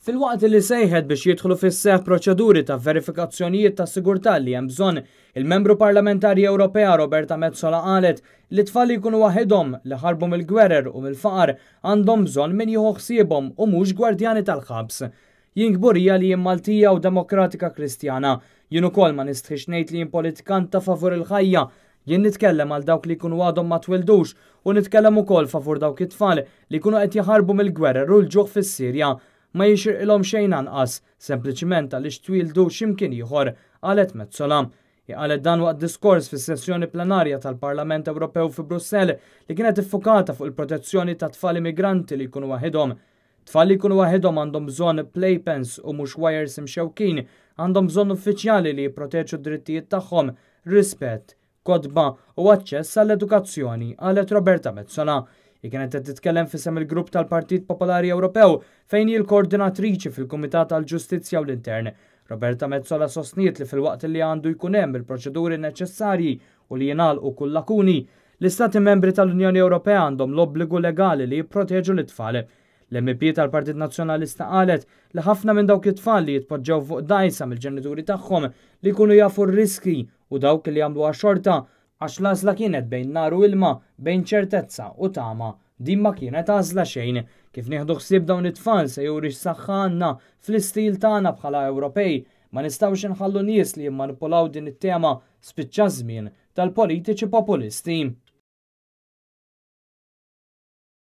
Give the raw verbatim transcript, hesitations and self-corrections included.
Filwaqt li sejħet biex jidħlu fis-seħ proċeduri ta' verifikazzjonijiet ta' sigurtà li hemm bżonn, il-membru parlamentari Ewropea Roberta Metsola qalet li tfal li jkunu waħedhom li ħarbu mill-gwerer u mill-faqar għandhom bżonn min jieħu ħsiebhom u mhux gwardjani tal-ħabs. Jien kburija li jien Maltija u Demokratika Kristjana. Jien ukoll ma nistħix ngħid li jien politikanta favur il-ħajja. Jien nitkellem għal dawk li jkunu għadhom ma twildux u nitkellem ukoll favur dawk it-tfal li jkunu qed jaħarbu mill-gwerer u l-ġuħ fis-Sirja. Ma jixirqilhom xejn anqas, sempliċiment għaliex twildu x'imkien ieħor, qalet Metsola. Qalet dan waqt diskors fis-sessjoni plenarja tal-Parlament Ewropew fi Brussell li kienet iffukata fuq il-protezzjoni ta' tfal immigranti li jkunu waħedhom. Tfal li jkunu waħedhom għandhom bżonn playpens u mhux wires imxewkin, għandhom bżonn uffiċjali li jipproteġu d-drittijiet tagħhom, rispett, kotba u aċċess għall-edukazzjoni, qalet Roberta Metsola. Hi kienet qed titkellem f'isem il-grupp tal-Partit Popolari Ewropew fejn hi l-koordinatriċi fil-Kumitat tal-Ġustizzja u l-Intern. Roberta Metsola sostniet li filwaqt li għandu jkun hemm il-proċeduri neċessarji u li jingħalqu kull lakuni, l-Istati membri tal-Unjoni Ewropea għandhom l-obbligu legali li jipproteġu l-tfal. L-M P tal-Partit Nazzjonalista qalet li ħafna minn dawk it-tfal li jitpoġġew fuq dgħajsa mill-ġenituri tagħhom li jkunu jafu r-riski u dawk li jagħmluha xorta għax l-għażla kienet bejn nar u ilma, bejn ċertezza u tama. Din ma kienet għażla xejn. Kif nieħdu ħsieb dawn it-tfal se juri x'saħħa għandna fl-istil tagħna bħala Ewropej. Ma nistgħux inħallu nies li jimmanipulaw din it-tema. Spiċċa żmien tal-politiċi populisti.